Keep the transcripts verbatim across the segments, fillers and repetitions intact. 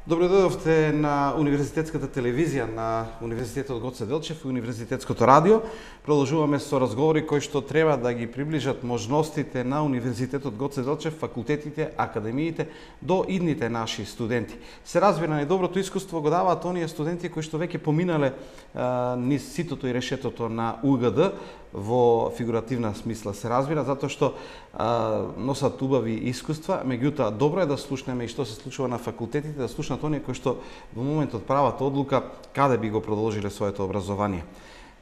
Добро дојдовте на Универзитетската телевизија на Универзитетот Гоце Делчев и Универзитетското радио. Продолжуваме со разговори кои што треба да ги приближат можностите на Универзитетот Гоце Делчев, факултетите, академиите до идните наши студенти. Се разбира, најдоброто искуство го даваат оние студенти кои што веќе поминале а, низ ситото и решетото на У Г Д во фигуративна смисла, се разбира, затоа што а, носат убави искуства, меѓутоа добро е да слушнеме и што се случува на факултетите, да слушнат оние кои што во моментот прават одлука каде би го продолжиле своето образование.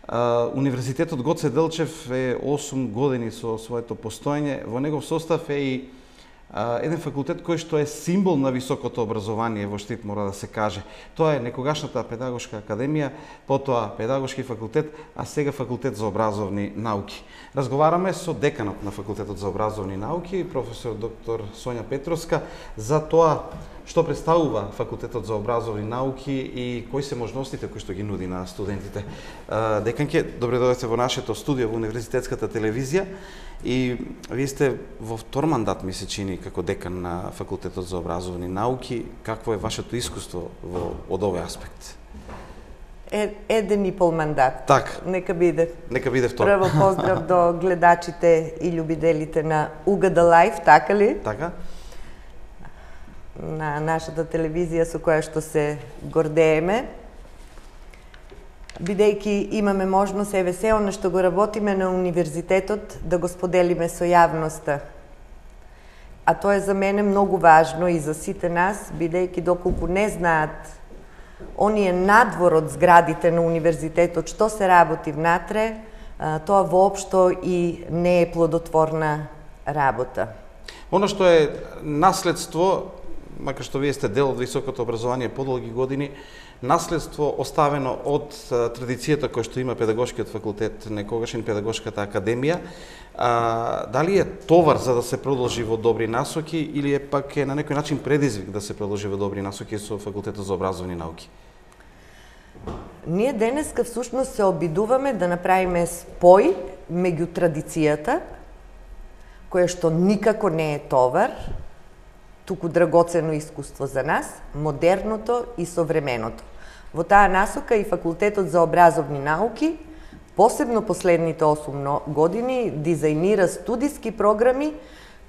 А, Универзитетот Гоце Делчев е осум години со своето постоење, во негов состав е и Uh, еден факултет кој што е символ на високото образование во Штип, мора да се каже. Тоа е некогашната педагошка академија, потоа педагошки факултет, а сега факултет за образовни науки. Разговараме со деканот на факултетот за образовни науки, професор доктор Сонја Петровска, за тоа што представува факултетот за образовни науки и кои се можностите кои што ги нуди на студентите. Uh, деканке, добре дојдете во нашето студио во Универзитетската телевизија. И вие сте во втор мандат, ми се чини, како декан на Факултетот за образовни науки. Какво е вашето искуство во, од овој аспект? Е, еден и пол мандат. Так. Нека биде. Нека биде втор. Прво поздрав до гледачите и љубиделите на У Г Д Лайв, така ли? Така. На нашата телевизија со која што се гордееме. Бидејќи имаме можност, еве се оно што го работиме на универзитетот, да го споделиме со јавноста. А тоа е за мене многу важно и за сите нас, бидејќи доколку не знаат оние надвор од зградите на универзитетот што се работи внатре, тоа воопшто и не е плодотворна работа. Оно што е наследство, макар што вие сте дел од високото образование подолги години, наследство оставено од традицијата која што има педагошкиот факултет, некогашен педагошката академија, а, дали е товар за да се продолжи во добри насоки или е пак е на некој начин предизвик да се продолжи во добри насоки со факултетот за образовни науки? Ние денеска всушност се обидуваме да направиме спој меѓу традицијата, која што никако не е товар, туку драгоцено искуство за нас, модерното и современото. Во таа насока и Факултетот за образовни науки, посебно последните осум години, дизајнира студиски програми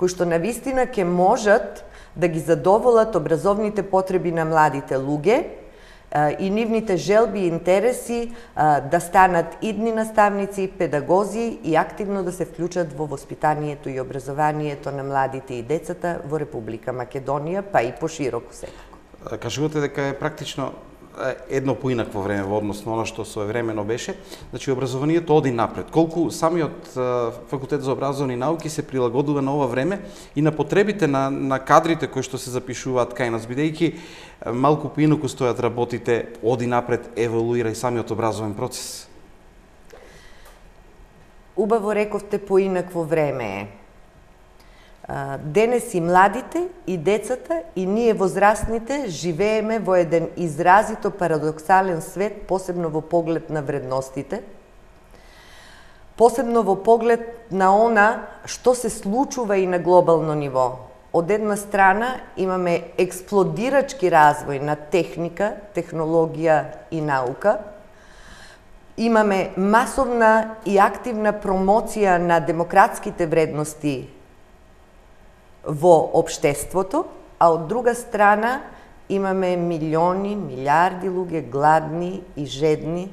кои што навистина ќе можат да ги задоволат образовните потреби на младите луѓе и нивните желби и интереси да станат идни наставници, педагози и активно да се вклучат во воспитанието и образованието на младите и децата во Република Македонија, па и пошироко секако. Кажувате дека е практично едно поинакво време во однос на оно што своевремено беше. Значи, образованието оди напред. Колку самиот Факултет за образовни науки се прилагодува на ова време и на потребите на, на кадрите кои што се запишуваат кај нас, бидејќи малку поинаку стојат работите, оди напред, еволуира и самиот образовен процес. Убаво рековте поинакво време е. Денес и младите, и децата, и ние возрастните живееме во еден изразито парадоксален свет, посебно во поглед на вредностите, посебно во поглед на она што се случува и на глобално ниво. Од една страна имаме експлодирачки развој на техника, технологија и наука, имаме масовна и активна промоција на демократските вредности во општеството, а од друга страна имаме милиони, милиарди луѓе гладни и жедни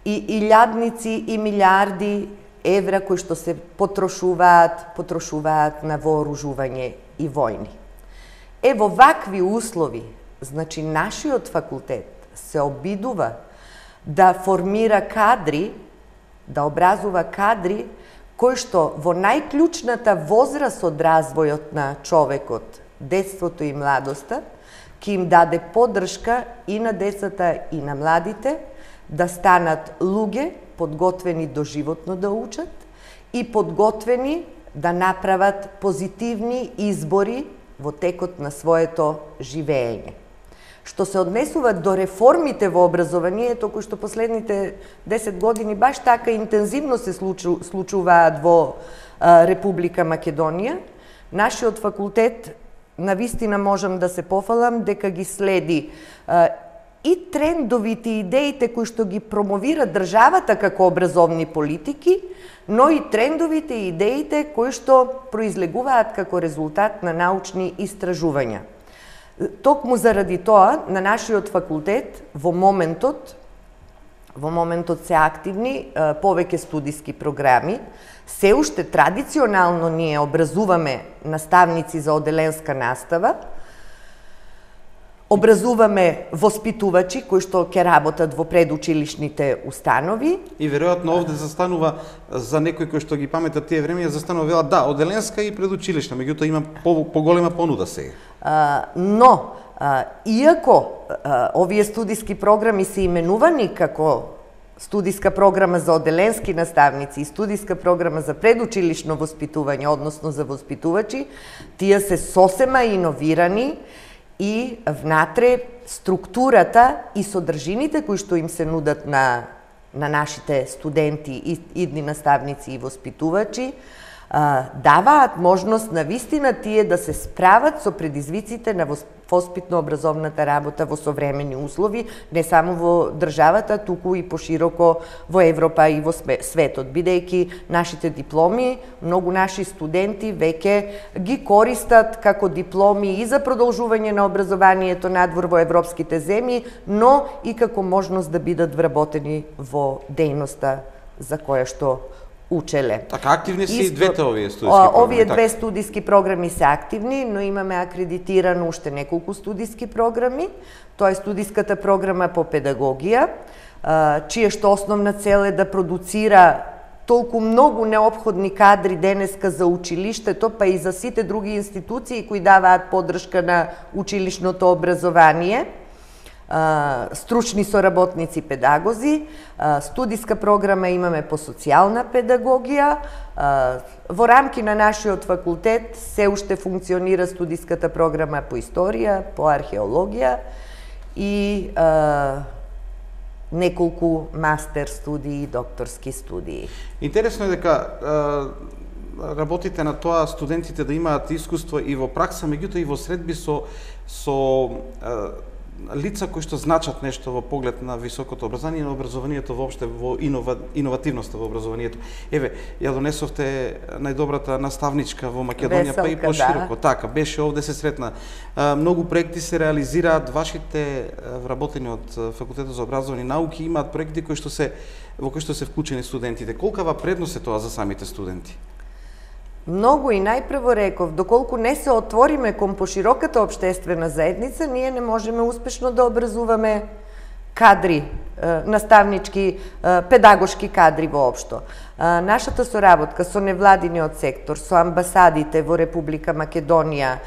и илјадници и милиарди евра кои што се потрошуваат, потрошуваат на вооружување и војни. Е во вакви услови, значи нашиот факултет се обидува да формира кадри, да образува кадри кои што во најклучната возраст од развојот на човекот, детството и младоста, ќе им даде поддршка и на децата и на младите да станат луѓе подготвени доживотно да учат и подготвени да направат позитивни избори во текот на своето живеење. Што се однесува до реформите во образованието, кои што последните десет години баш така интензивно се случу, случуваат во а, Република Македонија, нашиот факултет навистина можам да се пофалам дека ги следи и трендовите идеите кои што ги промовира државата како образовни политики, но и трендовите идеите кои што произлегуваат како резултат на научни истражувања. Токму заради тоа, на нашиот факултет во моментот, во моментот се активни повеќе студиски програми. Се уште традиционално ние образуваме наставници за оделенска настава, образуваме воспитувачи кои што ќе работат во предучилишните установи. И веројатно овде застанува за некој кој што ги паметат тие времења, застанува вела да, оделенска и предучилишна, меѓутоа има поголема понуда сега. А, но, а, иако а, овие студиски програми се именувани како студиска програма за оделенски наставници и студиска програма за предучилишно воспитување, односно за воспитувачи, тие се сосема иновирани и внатре структурата и содржините кои што им се нудат на, на нашите студенти и идни наставници и воспитувачи, даваат можност на вистина тие да се справат со предизвиците на воспитно-образовната работа во современи услови, не само во државата, туку и пошироко во Европа и во светот, бидејќи нашите дипломи, многу наши студенти веќе ги користат како дипломи и за продолжување на образованието надвор во европските земји, но и како можност да бидат вработени во дејноста за која што учеле. Така, активни се и двете овие студиски програми? Овие две студиски програми се активни, но имаме акредитирано уште неколку студиски програми. Тоа е студиската програма по педагогија, чија што основна цел е да продуцира толку многу неопходни кадри денеска за училиштето, па и за сите други институции кои даваат поддршка на училишното образование, стручни соработници педагози. Студиска програма имаме по социјална педагогија. Во рамки на нашиот факултет се уште функционира студиската програма по историја, по археологија и неколку мастер студии и докторски студии. Интересно е дека работите на тоа студентите да имаат искуство и во пракса, меѓутоа и во средби со со лица кои што значат нешто во поглед на високото образование и на образованието воопште, во инова, иновативноста во образованието. Еве, ја донесовте најдобрата наставничка во Македонија, Веселка, па и пошироко. Да. Така, беше овде се сретна. Многу проекти се реализираат, вашите вработени од Факултетот за образовни науки имаат проекти кои што се во кои што се вклучени студентите. Колкава предност е тоа за самите студенти? Многу и најпрво реков, доколку не се отвориме кон пошироката општествена заедница, ние не можеме успешно да образуваме кадри, наставнички, педагошки кадри воопшто. Нашата соработка со невладиниот сектор, со амбасадите во Република Македонија,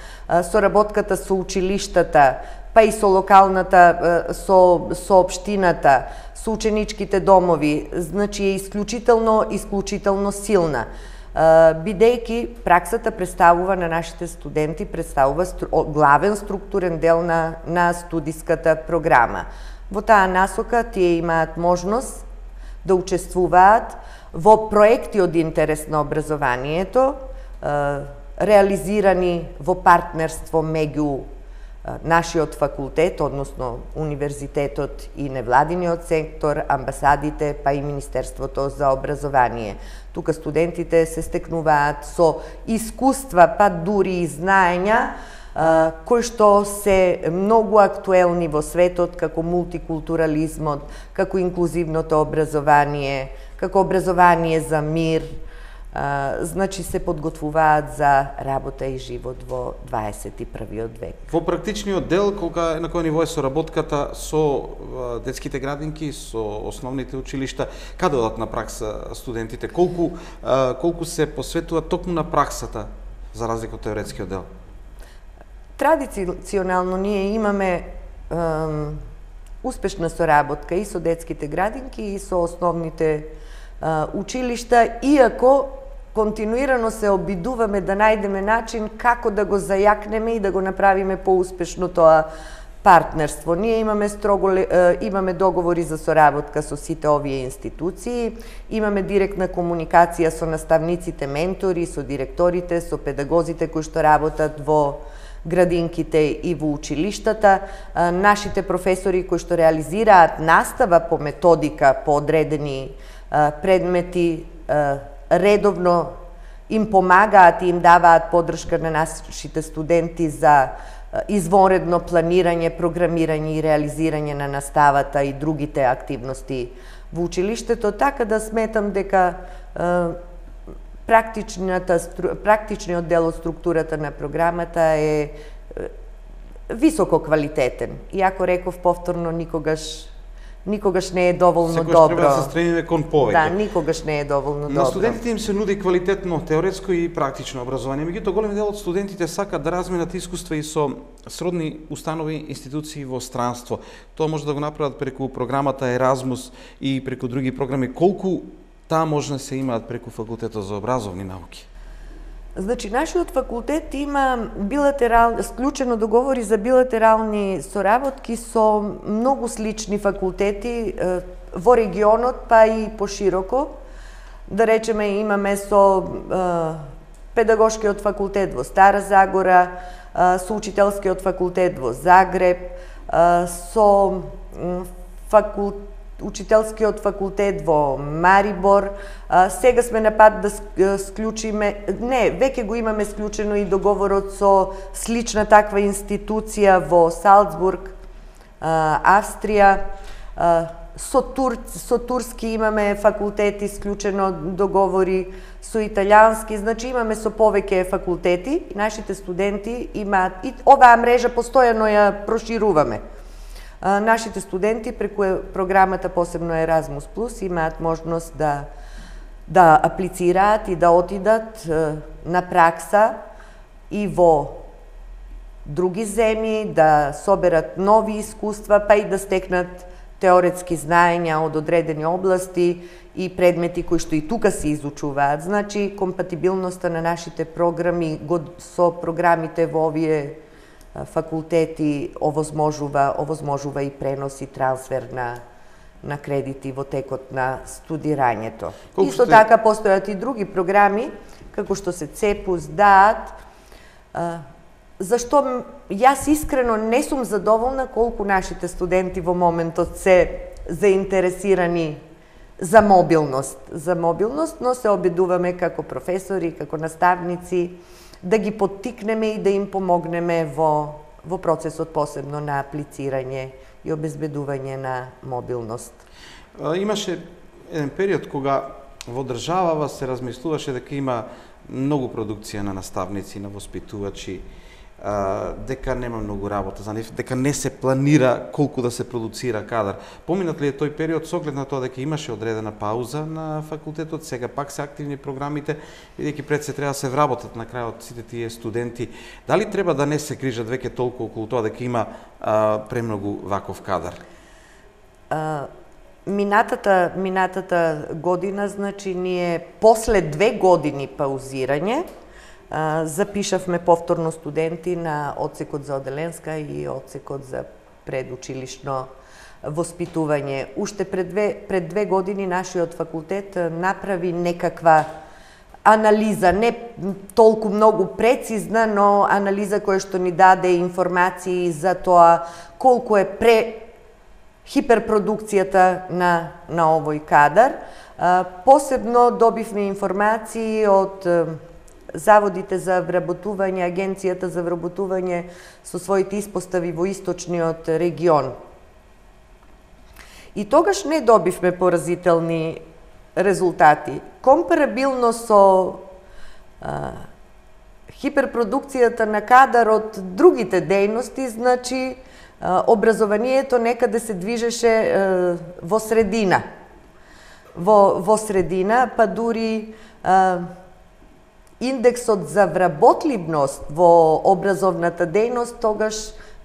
соработката со училиштата, па и со локалната, со, со општината, со ученичките домови, значи е исклучително, исклучително силна. Бидејќи праксата представува на нашите студенти, представува стру, главен структурен дел на, на студиската програма. Во таа насока тие имаат можност да учествуваат во проекти од интерес на образованието, реализирани во партнерство меѓу нашиот факултет, односно универзитетот и невладиниот сектор, амбасадите, па и Министерството за образование. Тука студентите се стекнуваат со искуства, па дури и знаења, кои што се многу актуелни во светот, како мултикултурализмот, како инклузивното образование, како образование за мир, значи се подготвуваат за работа и живот во дваесет и првиот век. Во практичниот дел, колка на кој ниво е соработката со детските градинки, со основните училишта, каде одат на пракса студентите? Колку колку се посветуваат токму на праксата за разлика од теоретскиот дел? Традиционално ние имаме ем, успешна соработка и со детските градинки и со основните е, училишта, иако континуирано се обидуваме да најдеме начин како да го зајакнеме и да го направиме поуспешно тоа партнерство. Ние имаме строго имаме договори за соработка со сите овие институции, имаме директна комуникација со наставниците, ментори, со директорите, со педагозите кои што работат во градинките и во училиштата. Нашите професори кои што реализираат настава по методика по одредени предмети редовно им помагаат и им даваат поддршка на нашите студенти за извонредно планирање, програмирање и реализирање на наставата и другите активности во училиштето, така да сметам дека практичниот дел од структурата на програмата е високо квалитетен. Иако реков повторно, никогаш никогаш не е доволно Секогаш добро. треба да се стремиме кон повеќе. Да, никогаш не е доволно добро. На студентите им се нуди квалитетно теоретско и практично образование. Меѓутоа, голем дел од студентите сакаат да разменат искуства и со сродни установи, институции во странство. Тоа може да го направат преку програмата Еразмус и преку други програми. Колку таа можност се имаат преку факултетот за образовни науки? Значи, нашиот факултет има билатерал, склучено договори за билатерални соработки со многу слични факултети во регионот, па и пошироко. Да речеме, имаме со педагошкиот факултет во Стара Загора, со учителскиот факултет во Загреб, со факултет учителскиот факултет во Марибор. Сега сме на пат да склучиме, не, веќе го имаме склучено и договорот со слична таква институција во Салцбург, Австрија. Со, тур, со турски имаме факултети склучено договори, со италијански, значи имаме со повеќе факултети. Нашите студенти имаат, и оваа мрежа постојано ја прошируваме. Нашите студенти преку програмата, посебно Еразмус плюс, имаат можност да да аплицираат и да отидат на пракса и во други земји, да соберат нови искуства, па и да стекнат теоретски знаења од одредени области и предмети кои што и тука се изучуваат. Значи, компатибилноста на нашите програми со програмите во овие факултети овозможува, овозможува и пренос и трансфер на, на кредити во текот на студирањето. Колку Исто сте... така постојат и други програми, како што се ЦЕПУС, ДААТ, зашто јас искрено не сум задоволна колку нашите студенти во моментот се заинтересирани за мобилност, за мобилност, но се обидуваме како професори, како наставници, да ги поттикнеме и да им помогнеме во, во процесот, посебно на аплицирање и обезбедување на мобилност. Имаше еден период кога во државава се размислуваше дека има многу продукција на наставници, на воспитувачи, дека нема многу работа за нив, дека не се планира колку да се продуцира кадар. Поминат ли е тој период со оглед на тоа дека имаше одредена пауза на факултетот, сега пак се активни програмите, бидејќи пред се треба да се вработат на крајот сите тие студенти. Дали треба да не се грижат веќе толку околу тоа дека има а, премногу ваков кадар? А, минатата, минатата година, значи, ние после две години паузирање, запишавме повторно студенти на одсекот за оделенска и одсекот за предучилишно воспитување. Уште пред две, пред две години нашиот факултет направи некаква анализа, не толку многу прецизна, но анализа која што ни даде информации за тоа колку е пре хиперпродукцијата на, на овој кадар. Посебно добивме информации од заводите за вработување, Агенцијата за вработување со своите испостави во источниот регион. И тогаш не добивме поразителни резултати. Компарабилно со а, хиперпродукцијата на кадар од другите дејности, значи а, образованието некаде се движеше а, во средина. Во, во средина, па дури а, индексот за вработливност во образовната дејност тогаш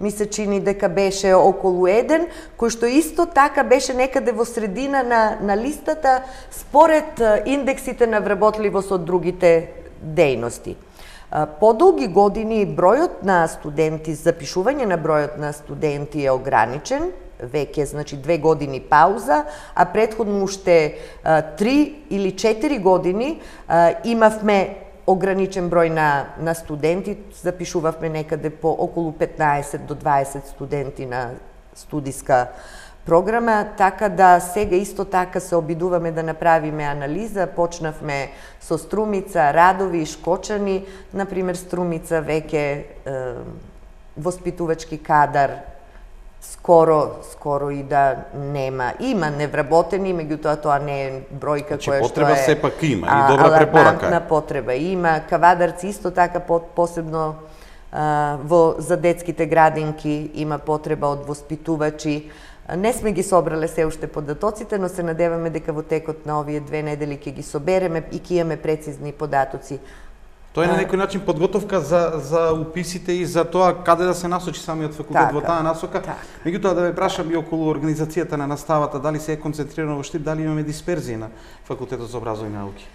ми се чини дека беше околу еден, кој што исто така беше некаде во средина на, на листата според индексите на вработливост од другите дејности. Подолги години бројот на студенти, запишување на бројот на студенти е ограничен, веќе, значи, две години пауза, а претходно уште три или четири години имавме ограничен број на, на студенти, запишувавме некаде по околу петнаесет до дваесет студенти на студиска програма, така да сега исто така се обидуваме да направиме анализа. Почнавме со Струмица, Радови, Шкочани, например Струмица веќе е, воспитувачки кадар скоро скоро и да нема. Има невработени, меѓутоа тоа не е бројка значи, која што е потреба сепак има и добра препорака. На потреба има. Кавадарци исто така посебно а, во за детските градинки има потреба од воспитувачи. Не сме ги собрале се уште податоците, но се надеваме дека во текот на овие две недели ќе ги собереме и ќе имаме прецизни податоци. Тоа е на некој начин подготовка за за уписите и за тоа каде да се насочи самиот факултет во таа насока. Меѓутоа да ве прашам и околу организацијата на наставата, дали се е концентрирано во Штип, дали имаме дисперзија на Факултетот за образовни науки?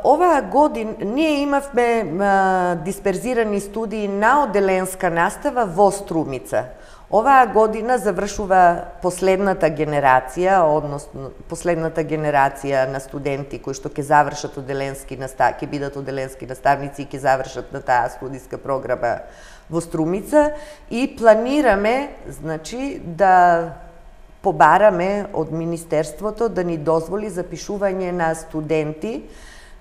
Оваа година ние имавме дисперзирани студии на оделенска настава во Струмица. Оваа година завршува последната генерација, односно последната генерација на студенти кои што ќе завршат оделенски настав, ќе бидат оделенски наставници и ќе завршат на таа студиска програма во Струмица и планираме, значи, да побараме од Министерството да ни дозволи запишување на студенти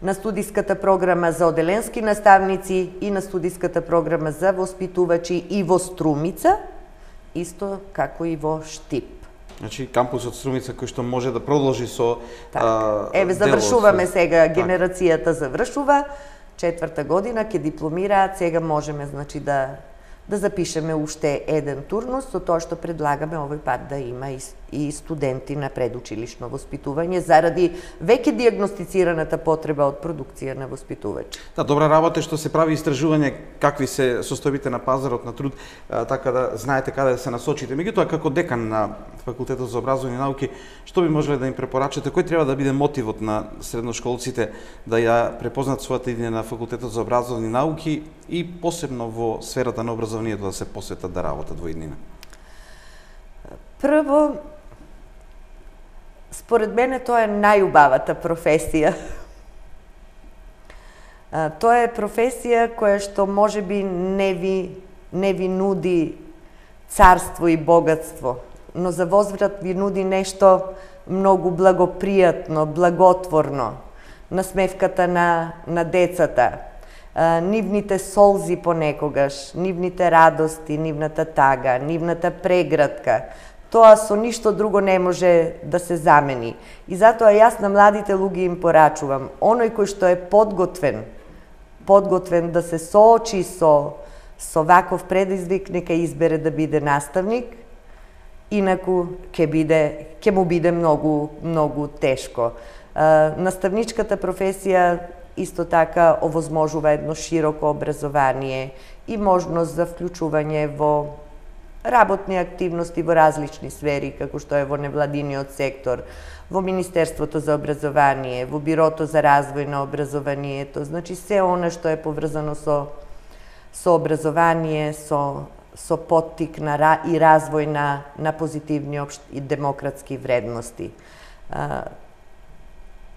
на студиската програма за оделенски наставници и на студиската програма за воспитувачи и во Струмица, исто како и во Штип. Значи кампусот Струмица кој што може да продолжи со а, Еве завршуваме сега, генерацијата завршува, четврта година ќе дипломираат, сега можеме значи да да запишеме уште еден турнус, со тоа што предлагаме овој пат да има и, и студенти на предучилишно воспитување заради веќе дијагностицираната потреба од продукција на воспитувачи. Да, добра работа што се прави истражување какви се состојбите на пазарот на труд, а, така да знаете каде да се насочите. Меѓутоа како декан на Факултетот за образовни науки, што би можеле да им препорачате, кој треба да биде мотивот на средношколците да ја препознат својата идеја на Факултетот за образовни науки и посебно во сферата на образованието да се посветат да работат во иднина? Прво, според мене тоа е најубавата професија. Тоа е професија која што можеби не ви, не ви нуди царство и богатство, но за возврат ви нуди нешто многу благопријатно, благотворно, насмевката на, на децата, нивните солзи понекогаш, нивните радости, нивната тага, нивната преградка. Тоа со ништо друго не може да се замени. И затоа јас на младите луѓе им порачувам, оној кој што е подготвен, подготвен да се соочи со со ваков предизвик, нека избере да биде наставник, инаку ќе биде ќе му биде многу многу тешко. Наставничката професија исто така овозможува едно широко образование и можност за вклучување во работни активности во различни сфери, како што е во невладиниот сектор, во Министерството за образование, во Бирото за развој на образованието, значи се она што е поврзано со со образование, со со поттик на и развој на на позитивни општи и демократски вредности.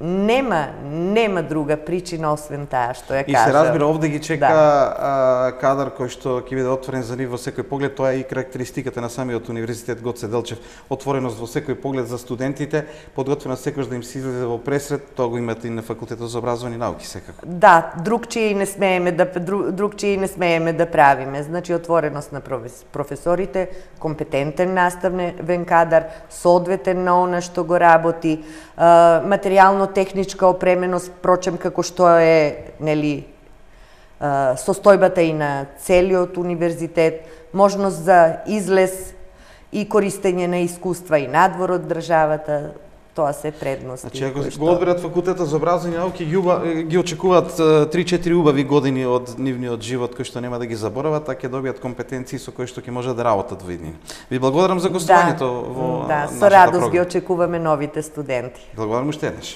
Нема, нема друга причина освен таа што ја кажа. И се разбира, овде ги чека да. а, кадар кој што ќе биде отворен за нив во секој поглед. Тоа е и карактеристиката на самиот универзитет Гоце Делчев. Отвореност во секој поглед за студентите, подготвеност секојаш да им се излезе во пресред, тоа го имате и на Факултетот за образовни науки секако. Да, другчие не смееме да другчие не смееме да правиме. Значи отвореност на професорите, компетентен наставен кадар, соодветен на она што го работи, материјално техничка опременост, прочем како што е, нели, состојбата и на целиот универзитет, можност за излез и користење на искуства и надвор од државата, тоа се предности. Значи, ако го одберат Факултетот за образовни науки, ги, ги очекуваат три-четири убави години од нивниот живот кои што нема да ги заборават, а ќе добијат компетенции со кои што ќе може да работат во иднина. Ви благодарам за гостувањето да, во да, нашата со радост програма. ги очекуваме новите студенти. Благодарам уште еднаш.